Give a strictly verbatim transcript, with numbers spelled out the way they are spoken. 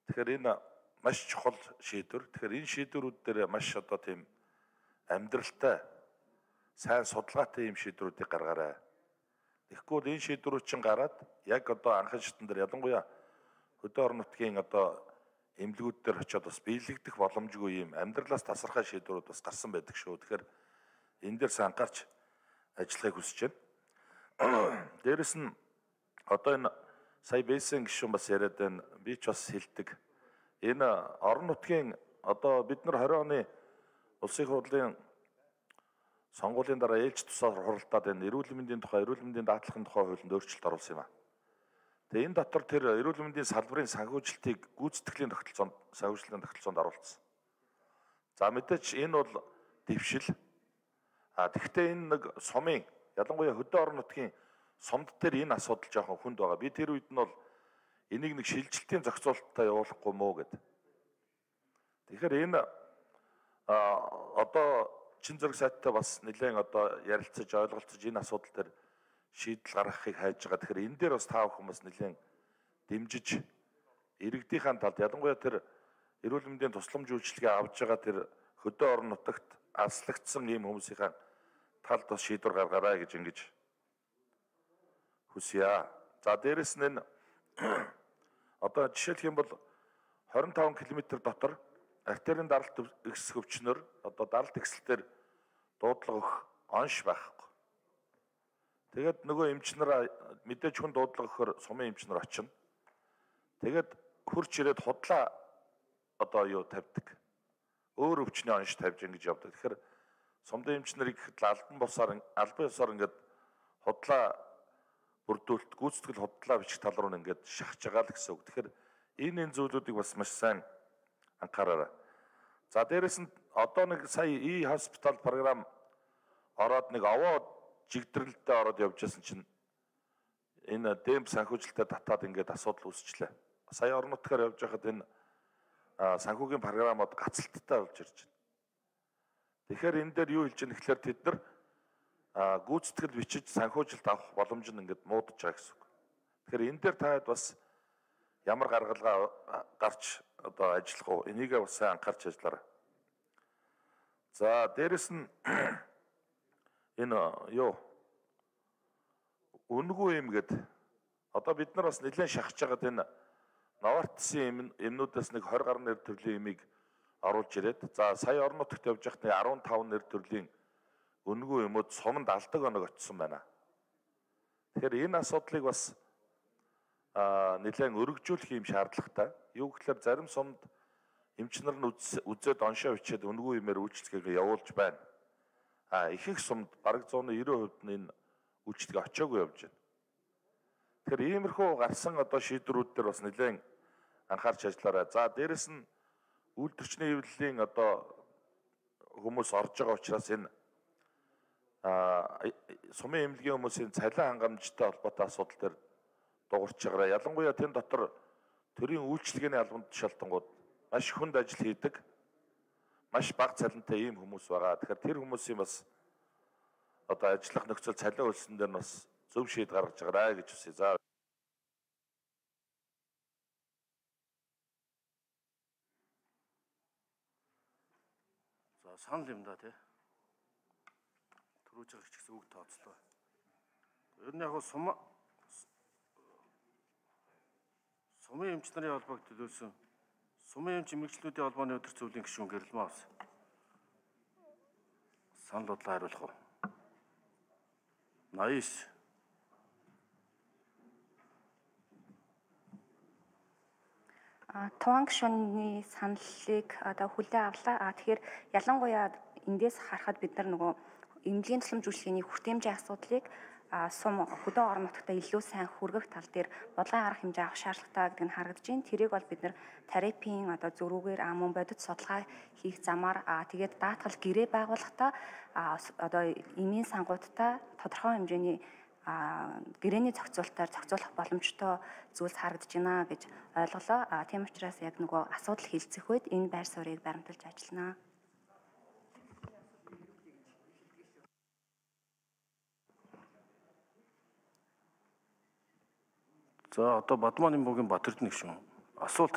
Тэгэхээр энэ маш чухал шийдвэр. Тэгэхээр энэ шийдвэрүүд дээр маш одоо тийм амьдралтай, сайн судалгаатай юм шийдвэрүүдийг гаргаарай. Тэгэхгүй бол энэ шийдвэрүүд чинь гараад яг одоо анхан шатн дээр ялангуяа хөдөө орон нутгийн одоо эмнэлгүүд дээр очиод бас биелэгдэх боломжгүй юм амьдралаас тасархай шийдвэрүүд бас гарсан байдаг шүү. Тэгэхээр энэ дээр сайн анхаарч ажиллахыг хүсэж байна. Дээрэс нь одоо энэ сая Бэйсэн гишүүн бас яриад байна. Би ч бас хэлдэг. Энэ орон нутгийн одоо бид нар хорин оны улсын хурлын сонгуулийн дараа ээлж тусаар хуралдаад энэ эрүүл мэндийн тухай, эрүүл мэндийн даатгалын тухай хуулинд өөрчлөлт оруулсан юм а. Тэгээ энэ дотор тэр эрүүл мэндийн салбарын санхүүжилтийг гүйцэтгэлийн тогтолцоонд, санхүүжилтийн тогтолцоонд оруулсан. За мэдээч энэ бол дэвшил. А тэгвэл энэ нэг сумын ялангуяа хөдөө орон нутгийн сумд дээр энэ асуудал жоохон хүнд байгаа. Би тэр үед нь бол энийг нэг шилжилтийн зохицуулалттай явуулахгүй мó гэдэг. Тэгэхээр энэ одоо чин зэрэг сайттай бас нэлээд одоо ярилцаж ойлголцож энэ асуудал дээр шийдэл гаргахыг хайж байгаа. Тэгэхээр энэ дээр бас та бүхэн бас нэлээд дэмжиж иргэдийнхэн талд ялангуяа тэр эрүүл мэндийн тусламж үйлчилгээ авж байгаа тэр хөдөө орон нутагт аслагдсан ийм хүмүүсийн талд бас шийдвэр гаргаарай гэж ингэж хүсье. За дээрэс нь одоо жишээлх юм бол хорин таван километр дотор артерийн даралт ихс хөвчнөр одоо даралт ихсэлтээр дуудлага өгөх онш байхгүй. Тэгээд нөгөө эмчнэр мэдээж хүн дуудлага өгөхөр сумын эмчнэр очино. Тэгээд хурч ирээд худлаа одоо юу тавьдаг. Өөр өвчний онш тавьж ингэж явдаг. Тэгэхээр сумын эмчнэр их албан бусаар албан ёсоор ингээд худлаа бүрдүүлэлт гүйцэтгэл худлаа бичих тал руу ингээд шахаж байгаа л гэсэн үг. Тэгэхээр энэ энэ зүйлүүдийг бас маш сайн анхаараарай. За дээрэс нь одоо нэг сая и хоспитал програм ороод нэг овоо жигдрэлтэй ороод явж байсан чинь энэ дэмп санхүүжилттэй татаад ингээд асуудал үүсчлээ. Сая орон нутгаар явж байхад энэ санхүүгийн програмууд гацалттай болж ирж байна. Тэгэхээр энэ дээр юу хэлж байгаа нэхлээр тэд нар гүйцэтгэл бичиж санхүүжилт авах боломж нь ингээд муудаж байгаа гэсэн үг. Тэгэхээр энэ дээр таад бас ямар гаргалгаа гарч одоо ажиллах уу? Энийг бас сайн анхаарч ажиллаарай. За дээрэс нь энэ юу үнгүй юм гээд одоо бид нар бас нэлээд шахаж байгаад энэ Новартсын эмнүүдээс нэг двадцать гаруй нэр төрлийн эмийг оруулж ирээд за сая орон нутагт явж байхад дөрвөн нэр төрлийн үнгүй эмүүд суманд алдаг оног очсон байна. Тэгэхээр энэ асуудлыг бас нэлээд өргөжүүлэх юм шаардлагатай. Юу гэхээр зарим сумд эмчнэр нь үзээд оншоо бичээд үнгүй эмээр үйлчлэгээ явуулж байна. А ихэнх сумд бараг зууны девяносто хувьд нь энэ үйлчлэгээ очоогүй явж байна. Тэгэхээр иймэрхүү гарсан одоо шийдвэрүүд дээр бас нэлээд анхаарч ажиллаарай. За дээрэс нь үйлдвэрчний хэвлэлийн одоо хүмүүс орж байгаа учраас энэ сумын эмнэлгийн хүмүүсийн цалин хангамжтай холбоотой асуудал дээр дуурч байгаарай. Ялангуяа тэн дотор төрийн үйлчлэгээний албанд тушаалтангууд маш хүнд ажил хийдэг. Маш бага цалинтай ийм хүмүүс байгаа. Тэгэхээр тэр хүмүүсийн бас одоо ажиллах нөхцөл цалин хөлсөн дээр бас зөв шийд гаргаж байгаарай гэж хүсье. За За санал юм да тий. Төрөөж байгаа ч гэсэн үг тооцлоо. Ер нь яг сум сумын эмч нарын холбоог төлөөсөн сумын эмч эмэгчлүүдийн холбооны өдөр зөвлөлийн гишүүн Гэрэлмаа ус. Санал бодлоо хариулах уу? восемь. А туан гишүүний саналыг одоо хүлээн авлаа. А тэгэхээр ялангуяа эндээс харахад бид нар нөгөө эмнэлгийн тусламж үйлчилгээний хүртээмжийн асуудлыг сум хөдөө орон нутагта илүү сайн хүргэх тал дээр бодлогын арга хэмжээ авах шаардлагатай гэдэг нь харагдаж байна. Тэрийг бол бид нар тарифын одоо зөрүүгээр мөн бодит судалгаа хийх замаар тэгээд даатгал гэрээ байгуулахдаа одоо эмийн сангуудтай тодорхой хэмжээний гэрээний зохицуулалтаар зохицуулах боломжтой зүйлс харагдаж байна гэж ойлголоо. Тийм учраас яг нөгөө асуудал хилцэх үед энэ байр суурийг баримталж ажиллана. За одоо Бадмааны Бөгийн Батэрдэн гишүүн асуулт